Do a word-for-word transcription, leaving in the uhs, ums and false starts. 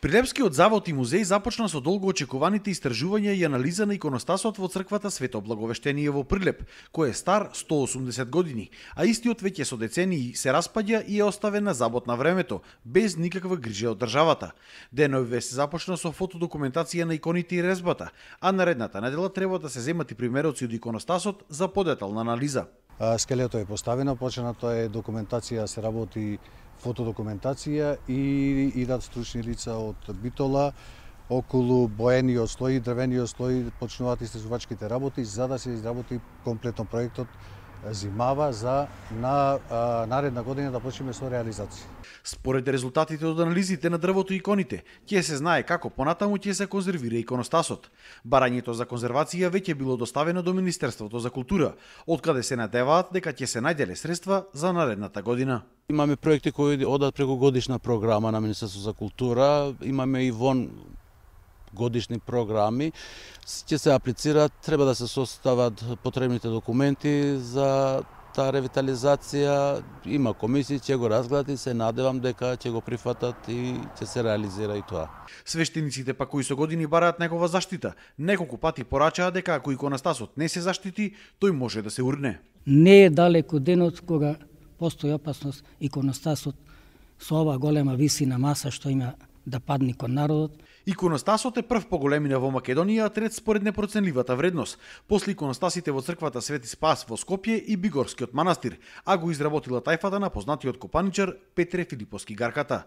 Прилепскиот завод и музеј започна со долго очекуваните истражувања и анализа на иконостасот во црквата Свето Благовештение во Прилеп, кој е стар сто осумдесет години, а истиот веќе со децении се распаѓа и е оставен на забот на времето, без никаква грижа од државата. Деновиве се започна со фотодокументација на иконите и резбата, а наредната недела треба да се земат и примероци од иконостасот за подетална анализа. Скелето е поставено, почнато е документација, се работи фотодокументација и идат стручни лица од Битола околу боениот слој и дрвениот слој, почнуваат истражувачките работи за да се изработи комплетно проектот зимава за на а, наредна година да почнеме со реализација. Според резултатите од анализите на дрвото и иконите, ќе се знае како понатаму ќе се конзервира иконостасот. Барањето за конзервација веќе било доставено до Министерството за култура, откаде се надеваат дека ќе се најделе средства за наредната година. Имаме проекти кои одат преку годишна програма на Министерството за култура, имаме и вон годишни програми, ќе се аплицираат, треба да се состават потребните документи за таа ревитализација, има комисии, ќе го разгледат и се надевам дека ќе го прифатат и ќе се реализира и тоа. Свештениците па кои со години бараат негова заштита, неколку пати порачаа дека ако иконостасот не се заштити, тој може да се урне. Не е далеко денот кога постои опасност иконостасот со ова голема висина маса што има да падне кон народот. Иконостасот е прв по големина во Македонија, а трет според непроценливата вредност. После иконостасите во црквата Свети Спас во Скопје и Бигорскиот манастир, а го изработила тајфата на познатиот копаничар Петре Филиповски Гарката.